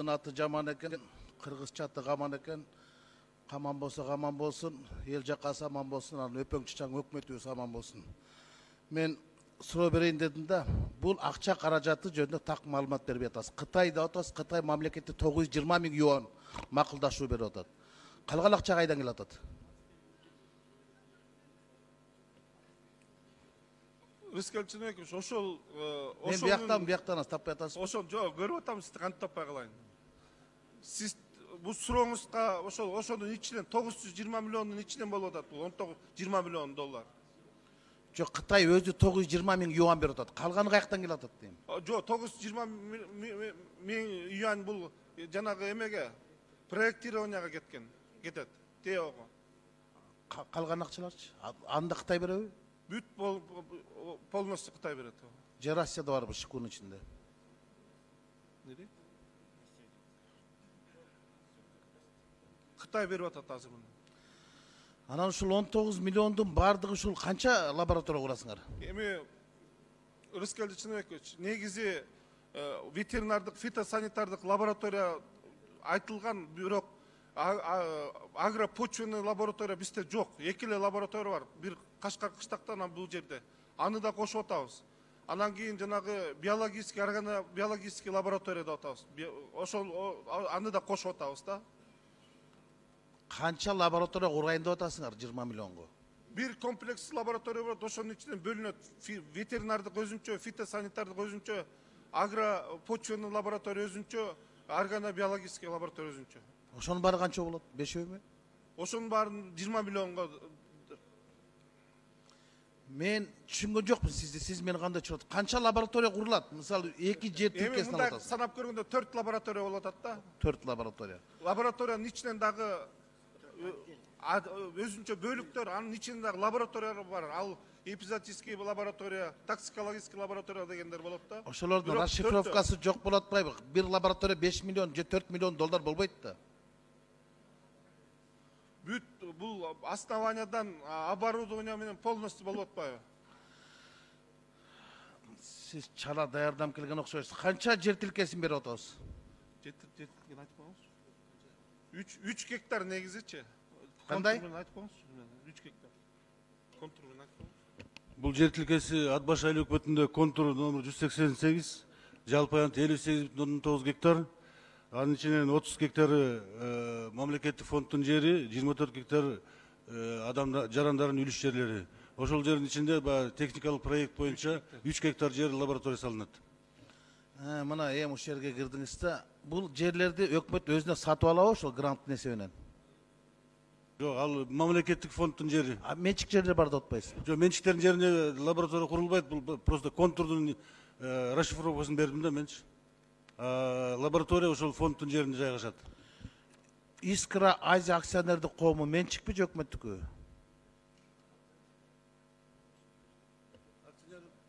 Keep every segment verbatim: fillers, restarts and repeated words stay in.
Элдин аты жаман экен, кыргызча аты каман экен. Каман болсо каман болсун, эл жакасы аман болсун, анан өпөң чычаң өкмөтүбүз аман болсун. Мен суроо берейин дедим да, бул акча каражаты жөнүндө так маалымат бербей атасыз. Кытайда атасыз, Кытай мамлекети тогуз жүз жыйырма миң юан макулдашуу берип атат. Калган акча кайдан келип атат? Рыскелчинекович, ошол мен бияктан бияктан таппай атасыз. Ошол жок, көрүп атам, сизди кантип таппай калайын. Сиз бул сурооңузга ошол ошонун ичинен тогуз жүз жыйырма миллиондун ичинен болуп атат. Бул он тогуз жыйырма миллион доллар. Жок, Кытай өзү тогуз жүз жыйырма миң юан берип атат. Калганы каяктан келип атат дейм. Жок, тогуз жүз жыйырма миң юан бул жанагы эмеге проектированияга кеткен, кетет. ТЭОго. Калган акчаларчы? Анда Кытай береби? Бүт полностью Кытай берет. Же Россияда барбы шикунун ичинде? Неде? Кытай берип атат азыр муну. Анан ушул он тогуз миллиондун бардыгы ушул канча лаборатория курасыңар? Эми Рыскелчинекович, негизи ветеринардык, фитосанитардык лаборатория айтылган, бирок агропочвенный лаборатория бизде жок. Эки эле лаборатория бар. Бир Кашкар кыштакта, анан бул жерде. Аны да кошуп атабыз. Анан кийин жанагы биологический, органа биологический лаборатория деп атабыз. Ошол аны да кошуп атабыз да. Канча лаборатория курайын деп атасыңар жыйырма миллионго? Бир комплекс лаборатория бар, ошонун ичинен бөлүнөт. Ветеринардык өзүнчө, фитосанитардык өзүнчө, агропочвенный лаборатория өзүнчө, органа биологический лаборатория өзүнчө. Ошонун баары канча болот? Бешөөбү? Ошонун баарын жыйырма миллионго. Мен түшүнгөн жокмун сизди. Сиз мени кандай түшүнөт? Канча лаборатория курулат? Мисалы, эки жер тилкесин алып атасыз. Санап көргөндө төрт лаборатория болуп атат да. төрт лаборатория. Лабораториянын ичинен дагы өзүнчө бөлүктөр, анын ичинде дагы лабораториялар бар. Ал эпизотический лаборатория, токсикологический лаборатория дегендер болот да. Ошолордун расшифровкасы жок болот атпайбы? Бир лаборатория беш миллион же төрт миллион доллар болбойт да. Бүт бул основаниядан оборудование менен полностью болуп атпайбы? Сиз чала даярдап келген окшойсуз. Канча жер тилкесин берип атабыз? Жер тилкесин айтып коюңузчу. үч гектар негизичи. Кандай? Айтып коюңузчу. үч гектар. Контур менен айтып коюңуз. Бул жер тилкеси Ат баш айыл өкмөтүндө контур номер жүз сексен сегиз, жалпы аянты элүү сегиз бүтүн ондон тогуз гектар. Анын ичинен отуз гектары мамлекеттик фонддун жери, жыйырма төрт гектар адам жарандардын үлүш жерлери. Ошол жердин ичинде техникалык проект боюнча үч гектар жер лаборатория салынат. Мына эми ушул жерге кирдиңиз да, бул жерлерди өкмөт өзүнө сатып алабы ошол гранттын эсебинен? Жок, ал мамлекеттик фонддун жери. А менчик жерлер бар деп атпайсыз? Жок, менчиктердин жерине лаборатория курулбайт, бул просто контурдун расшифровкасын бердим да менчи. Лаборатория ошол фонддун жеринде жайгашат. Искра Азия акционердик коому менчикпи же өкмөттүкү?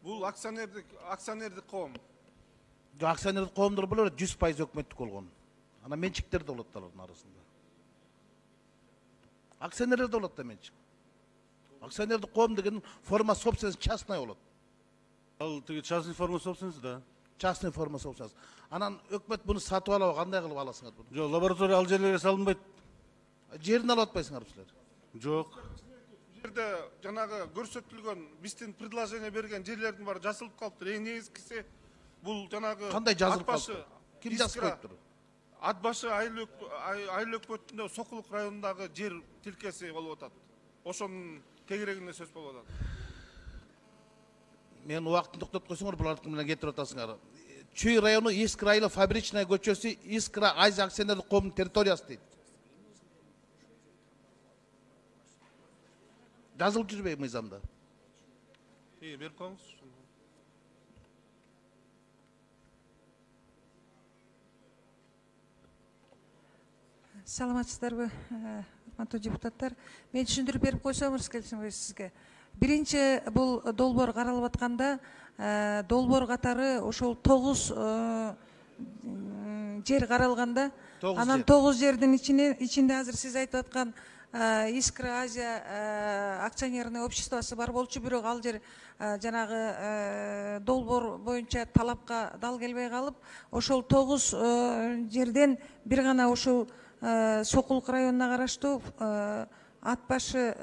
Бул акционердик акционердик коом. Акционердик коомдор болор, жүз пайыз өкмөттүк болгон. Анан менчиктер да болот алардын арасында. Акционерлер да болот да менчик. Акционердик коом деген форма собственности частная болот. Ал тиги частный форма собственности, да. Частный форма собственности. Анан өкмөт буну сатып алабы, кандай кылып аласыңар буну? Жок, лаборатория ал жерлерге салынбайт. Жерин алып атпайсыңар силер? Жок. Жерде жанагы көрсөтүлгөн биздин предложение берген жерлердин баары жазылып калыптыр. Эң негизгиси бул жанагы кандай жазылып калыптыр? Ким жазып коюптур? Ат башы айыл өкмөтүндө Сокулук районундагы жер тилкеси болуп атат. Ошонун тегерегинде сөз болуп атат. Мен убактын токтоп койсоңор, буларды менен кетирип атасыңар. Чүй району Искра айылы фабричная көчөсү Искра Азия акционерлик коомунун территориясы дейт. Жазылып жүрбөйбү мыйзамда? Э, берип коюңуз. Саламатсыздарбы, урматтуу депутаттар. Мен түшүндүрүп берип койсом, Рыскелчинович, сизге. Биринчи бул долбоор каралып атканда, долбоор катары ошол тогуз жер каралганда, анан тогуз жердин ичинде азыр сиз айтып аткан Искра Азия акционерный обществосы бар болчу, бирок ал жер жанагы долбоор боюнча талапка дал келбей калып, ошол тогуз жерден бир гана ушул Сокулук районуна караштуу Ат башы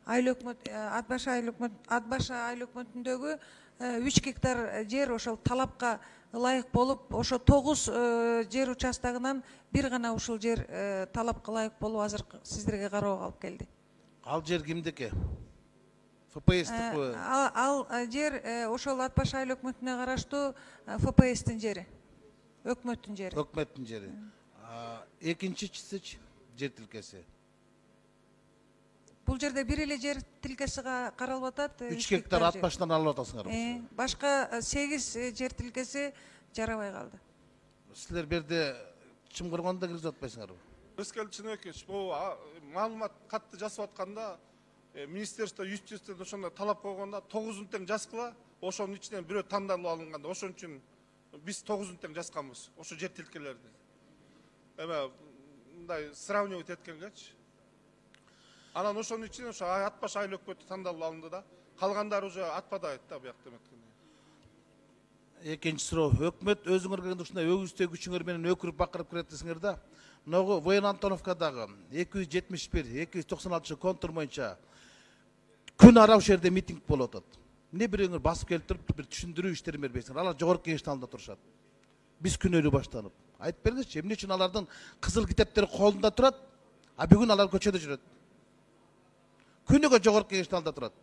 айыл өкмөт Ат башы айыл өкмөт Ат башы айыл өкмөтүндөгү үч гектар жер ошол талапка ылайык болуп, ошо тогуз жер участогунан бир гана ушул жер талапка ылайык болуп азыр сиздерге кароого алып келди. Ал жер кимдики? эф пэ эстикпи? Ал жер ошол Ат башы айыл өкмөтүнө караштуу эф пэ эстин жери, өкмөттүн жери. Өкмөттүн жери. Экинчичиси жер тилкеси. Бул жерде бир эле жер тилкеси каралып атат. үч гектар Ат башынан алып атасыңар. Башка сегиз жер тилкеси жарабай калды. Силер берде чымкыргонда кирип жатпайсыңарбы? Өскел Чынөкөч, бул маалымат катты жасап атканда министерство юстициядан ошондой талап койгондо тогузун тең жазгыла, ошонун ичинен бирөө тандалып алынганда, ошон үчүн биз тогузун тең жазганбыз, ошо жер тилкелерди. Эме мындай сравнивать эткенгечи. Анан ошонун ичинен ошо Ат башы айыл өкмөтү тандалып алынды да, калгандары уже атпадайт да буякта эметкенде. Экинчи суроо, өкмөт өзүңөр келгенде ушундай өгүздөө күчүңөр менен өкүрүп бакырып кирет десиңер да. Могу Воен Антоновкадагы эки жүз жетимиш бир эки жүз токсон алтынчы контур боюнча күн ара ушул жерде митинг болуп атат. Эмне бирөөңөр басып келип туруп бир түшүндүрүү иштерин бербейсиңер? Алар жогорку кеңештин алдында турушат. Биз күнөөлүү баштанып. Айтып бериңизчи, эмне үчүн алардын кызыл китептери колунда турат, а бүгүн алар көчөдө жүрөт? Күнүгө жогорку кеңештин алдында турат.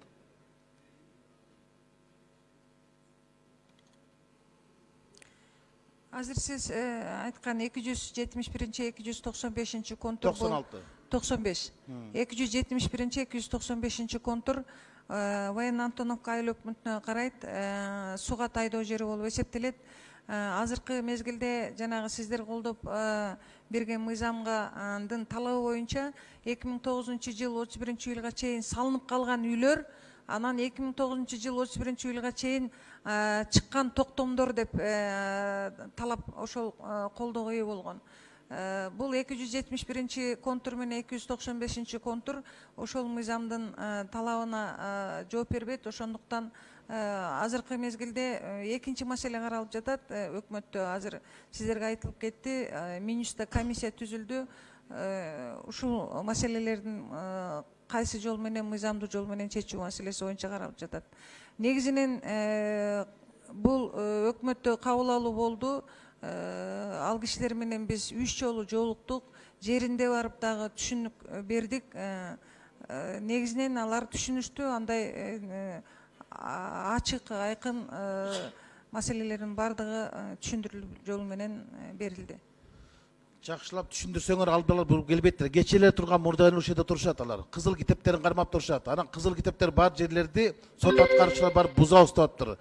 Азыр сиз айткан эки жүз жетимиш биринчи эки жүз токсон бешинчи контур токсон алты. токсон беш. эки жүз жетимиш биринчи эки жүз токсон бешинчи контур Воен Антоновка айыл өкмөтүнө карайт, сууга тайдоо жери болуп эсептелет. Азыркы мезгилде жанагы сиздер колдоп берген мыйзамгадын талабы боюнча эки миң тогузунчу жыл отуз биринчи июлга чейин салынып калган үйлөр, анан эки миң тогузунчу жыл отуз биринчи июлга чейин чыккан токтомдор деп талап ошол колдоого ээ болгон. Бул эки жүз жетимиш биринчи контур менен эки жүз токсон бешинчи контур ошол мыйзамдын талабына жооп бербейт. Ошондуктан азыркы мезгилде экинчи маселе каралып жатат. Өкмөттө азыр сиздерге айтылып кетти, Минюстта комиссия түзүлдү. Ушул маселелердин кайсы жол менен, мыйзамдуу жол менен чечүү маселеси боюнча каралып жатат. Негизинен бул өкмөттө кабыл алуу болду. Ал кишилер менен биз үч жолу жолуктук, жеринде барып дагы түшүнүк бердик. Негизинен алар түшүнүштү, андай ачык, айкын маселелердин бардыгы түшүндүрүлүү жолу менен берилди. Жакшылап түшүндүрсөңөр албалар бул келбейттир. Кечелер турган мурдайын ушул жерде турушат алар. Кызыл китептерин кармап турушат. Анан кызыл китептер бар жерлерди сот аткаруучулар барып буза уставаптыр.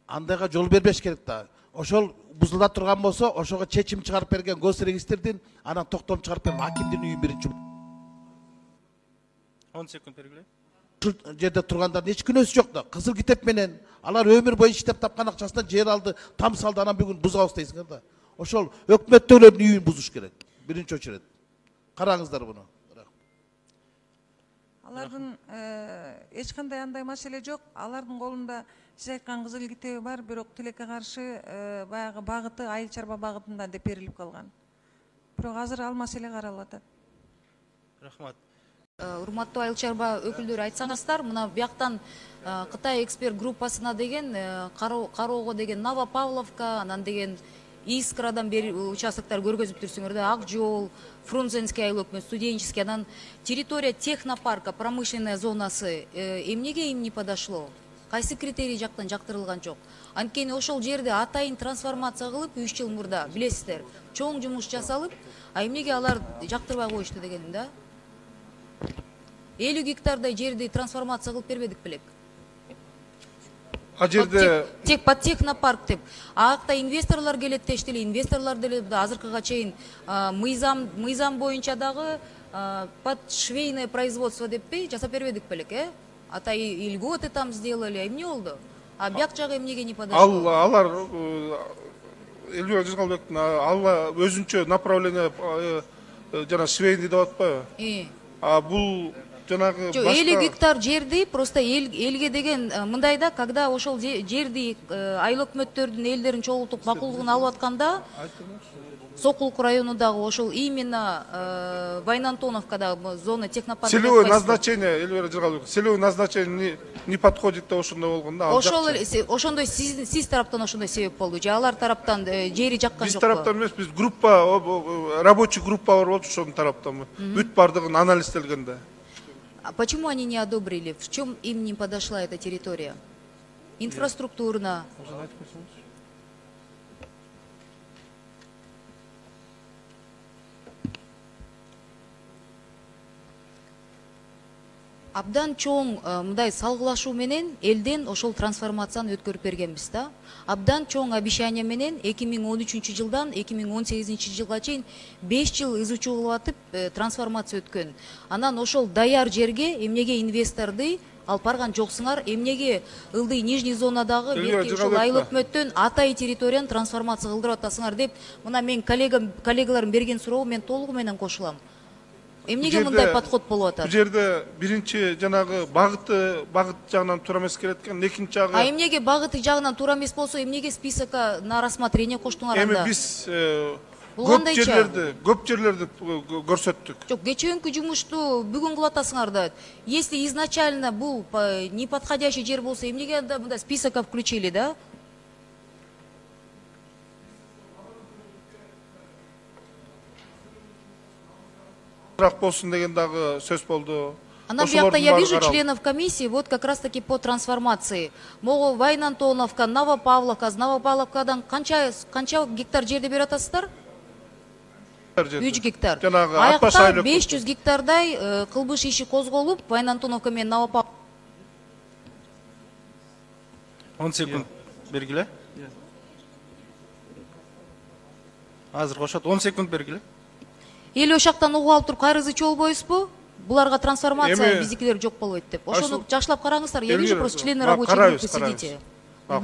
Андайга жол бербеш керек да. Ошол бузулда турган болсо, ошого чечим чыгарып берген госрегистрдин, анан токтом чыгарып берген акимдин үйүн биринчи. он секунд бергиле. Ушул жерде тургандардын эч күнөөсү жок да. Кызыл китеп менен алар өмүр бою иштеп тапкан акчасынан жер алды, там салды, анан бүгүн бузабыз дейсиңер да. Ошол өкмөттөгүлөрдүн үйүн бузуш керек. Биринчи очерет. Караңыздар буну. Алардын эч кандай андай маселе жок. Алардын колунда сиз айткан кызыл китеби бар, бирок тилекке каршы баягы багыты айыл чарба багытында деп берилип калган. Бирок азыр ал маселе каралып атат. Рахмат. Урматтуу айыл чарба өкүлдөрү, айтсаңыздар, мына бияктан Кытай эксперт группасына деген кароого деген Новопавловка, анан деген Искрадан бери участоктор көргөзүп турсуңөр да, Ак жол, Фрунзенский айыл өкмөт, Студенческий, анан территория технопарка, промышленная зонасы эмнеге им не подошло? Кайсы критерий жактан жактырылган жок? Анткени ошол жерде атайын трансформация кылып үч жыл мурда, билесиздер, чоң жумуш жасалып, а эмнеге алар жактырбай коюшту дегеним да? элүү гектардай жерди трансформация кылып бербедик белек. А жерде тек под технопарк деп. Акта инвесторлор келет дештили, инвесторлор деле азыркыга чейин мыйзам мыйзам боюнча дагы под швейное производство деппи жасап бербедик белек, э? Ата льготы там сделали, эмне болду? А бияк жагы эмнеге не подошло? Ал алар Элбек Жыгалбектин ал өзүнчө направление жана швейный деп атпайбы? А бул жанагы Жок, элүү гектар жерди просто эл элге деген э, мындай да, когда ошол же- жерди э, айыл өкмөттөрдүн элдерин чогултуп макулдугун алып атканда, Сокулук районундагы ошол именно э, Вайнантоновкадагы зона технопарк. Целевое назначение, Эльвира Жыргалбекова, целевое назначение не, не подходит деп ошондой болгон да. ал Ошол жакчы. эле се- ошондой сиз сиз тараптан ошондой себеп болду же алар тараптан э, жери жаккан Биз жокпу? тараптан эмес, биз группа, о- о- рабочий группа бар болчу, ошонун тараптан бүт бардыгын анализделген да. А почему они не одобрили? В чем им не подошла эта территория? Инфраструктурно. Абдан чоң э, мындай салгылашуу менен элден ошол трансформацияны өткөрүп бергенбиз да. Абдан чоң обещание менен эки миң он үчүнчү жылдан эки миң он сегизинчи жылга чейин беш жыл изучуу кылып атып э, трансформация өткөн. Анан ошол даяр жерге эмнеге инвесторду алып барган жоксуңар, эмнеге ылдый нижний зонадагы Эльвира берки ошол айыл Жыгалбекова. өкмөттөн атай территорияны трансформация кылдырып атасыңар деп, мына мен коллегам коллегаларым берген суроого мен толугу менен кошулам. Эмнеге Бул мындай жерде- подход болуп атат? Бул жерде биринчи жанагы багыты багыт жагынан туура эмес келет экен, экинчи жагы А эмнеге багыты жагынан туура эмес болсо, эмнеге списокко на рассмотрение коштуңар эми анда? биз э, Бул көп кандайча? жерлерди, көп жерлерди э, көрсөттүк. Жок, кечээнкү жумушту бүгүн кылып атасыңар да. Если изначально бул по- неподходящий жер болсо, эмнеге анда мындай списокко включили, да? Бирок болсун деген дагы сөз болду. Ана биякта Ошолордун я баары вижу каралды. членов комиссии вот как раз таки по трансформации. Могу Вайнантоновка, Новопавловка, Новопавловкадан канча канча гектар жерди берип атасыздар? үч гектар. Жанагы Атбаш Аякта айыл беш жүз гектардай э, кылмыш иши козголуп, Вайнантоновка менен Новопавловка он секунд бергиле. Азыр кошот, он секунд бергиле. эл ошактан угуп алып туруп кайрызычы болбойсузбу? Буларга трансформация Эми- биздикилер жок болбойт деп. Ошону Айсул- жакшылап караңыздар. Я вижу Эльвира, просто члены а, рабочей карайбыз, группы карайбыз. сидите. А,